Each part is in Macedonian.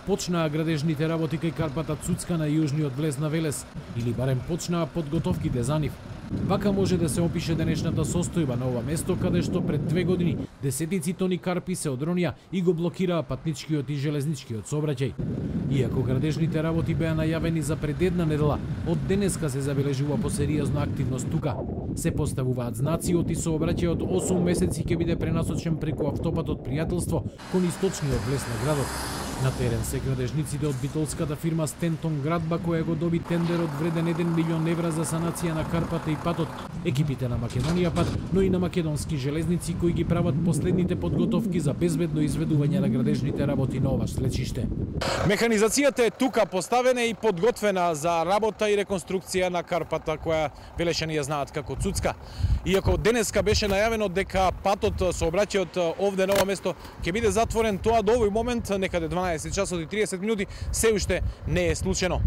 почнаа градежните работи кај Карпата Цуцка на јужниот влез на Велес, или барем почнаа подготовките за нив. Вака може да се опише денешната состојба на ова место, каде што пред 2 години десетици тони карпи се одронија и го блокираа патничкиот и железничкиот сообраќај. Иако градежните работи беа најавени за пред една недела, од денеска се забележува посериозна активност тука. Се поставуваат знаци и сообраќајот 8 месеци ќе биде пренасочен преку автопатот Пријателство кон источниот влез на градот. На терен се градежниците од битолската фирма Стентон Градба, која го доби тендерот вреден 1 милион евра за санација на Карпата и патот, екипите на Македонија пат, но и на Македонски железници кои ги прават последните подготовки за безбедно изведување на градежните работи на ова слечиште. Механизацијата е тука поставена и подготвена за работа и реконструкција на Карпата, која Велешани ја знаат како Цуцка. Иако денеска беше најавено дека патот сообраќајот овде на ова место ќе биде затворен, тоа до овој момент некаде 12 часот и 30 минути се уште не е случено.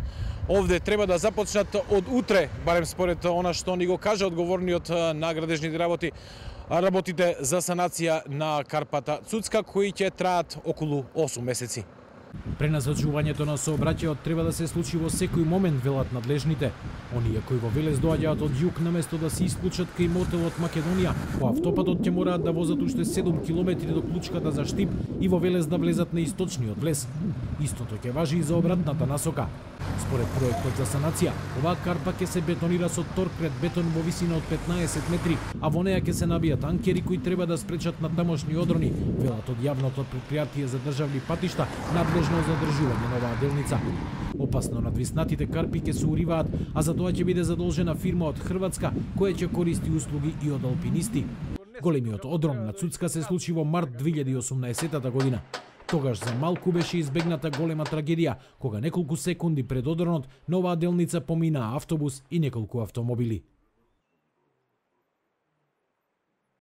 Овде треба да започнат од утре, барем според она што ни го кажа одговорниот на градежните работи, работите за санација на Карпата Цуцка, кои ќе траат околу 8 месеци. Пренасочувањето на сообраќајот треба да се случи во секој момент, велат надлежните. Оние кои во Велес доаѓаат од југ наместо да се исклучат кај мотелот Македонија, по автопатот ќе мораат да возат уште 7 километри до клучката за Штип и во Велес да влезат на источниот влез. Истото ќе важи и за обратната насока. Според проектот за санација, оваа карпа ќе се бетонира со торкрет бетон во висина од 15 метри, а во неја ќе се набијат анкери кои треба да спречат на тамошни одрони, велат од јавното претпријатие за државни патишта, надлежно за одржување на оваа делница. Опасно надвиснатите карпи ќе се уриваат, а за тоа ќе биде задолжена фирма од Хрватска која ќе користи услуги и од алпинисти. Големиот одрон на Цуцка се случи во март 2018 година. Тогаш за малку беше избегната голема трагедија, кога неколку секунди пред одронот на оваа делница поминаа автобус и неколку автомобили.